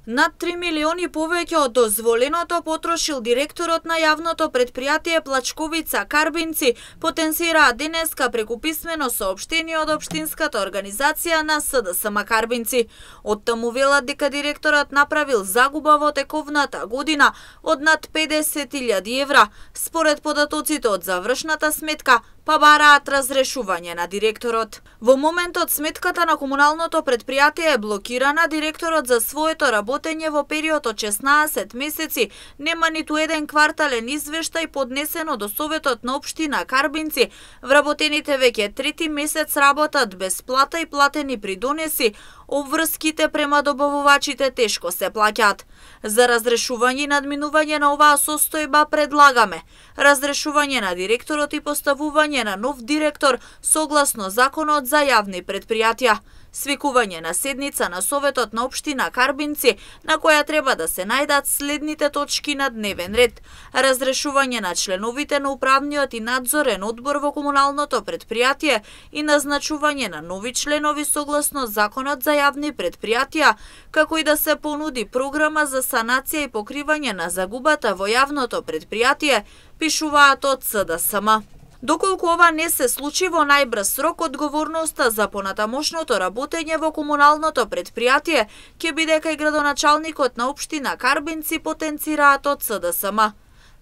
Над 3 милиони повеќе од дозволеното потрошил директорот на јавното предпријатие Плачковица Карбинци, потенцираа денеска преку писмено соопштение од општинската организација на СДСМ Карбинци. Оттаму велат дека директорот направил загуба во тековната година од над 50.000 евра. Според податоците од завршната сметка, па бараат разрешување на директорот. Во моментот сметката на комуналното предпријатие е блокирана, директорот за своето работење во период од 16 месеци нема ниту еден квартален извештај поднесено до Советот на општина Карбинци. Вработените веќе трети месец работат без плата и платени придонеси, обврските према добавувачите тешко се плаќаат. За разрешување и надминување на оваа состојба предлагаме разрешување на директорот и поставување на нов директор согласно Законот за јавни предпријатија, свикување на седница на Советот на општина Карбинци, на која треба да се најдат следните точки на дневен ред: разрешување на членовите на управниот и надзорен одбор во комуналното предпријатие и назначување на нови членови согласно Законот за јавни предпријатија, како и да се понуди програма за санација и покривање на загубата во јавното предпријатие, пишуваат од СДСМ. Доколку ова не се случи во најбрз рок, одговорноста за понатамошното работење во комуналното предпријатие ќе биде кај градоначалникот на општина Карбинци, потенцираат од СДСМ.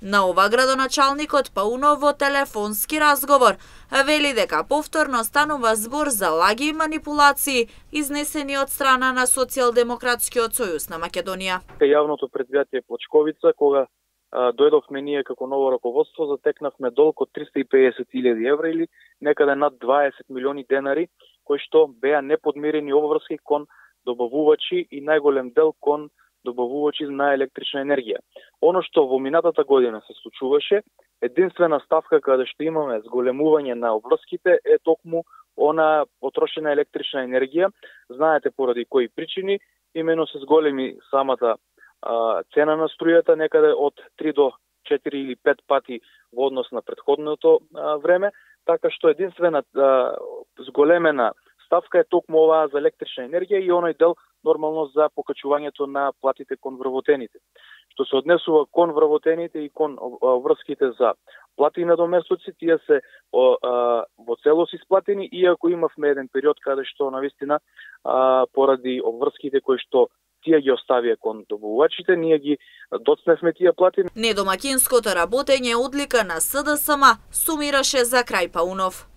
На ова градоначалникот Паунов во телефонски разговор вели дека повторно станува збор за лаги и манипулации изнесени од страна на Социјалдемократскиот сојуз на Македонија. Јавното предпријатие Плачковица, кога дојдовме ние како ново раководство, затекнавме долг од 350.000 евра или некаде над 20 милиони денари, кои што беа неподмирени обврски кон добавувачи и најголем дел кон добавувачи на електрична енергија. Оно што во минатата година се случуваше, единствена ставка каде што имаме зголемување на обврските е токму она потрошена електрична енергија. Знаете поради кои причини, имено се зголеми самата цена на струјата некаде од 3 до 4 или 5 пати во однос на претходното време, така што единствена зголемена ставка е токму оваа за електрична енергија и оној дел нормално за покачувањето на платите кон вработените. Што се однесува кон вработените и кон врските за плати и надоместоци, тие се во целост исплатени, иако имавме еден период каде што навистина поради обврските кои што тие ги оставија кон добавувачите, ние ги доцневме тие плати. Недомакинското работење одлика на СДСМ, сумираше за крај Паунов.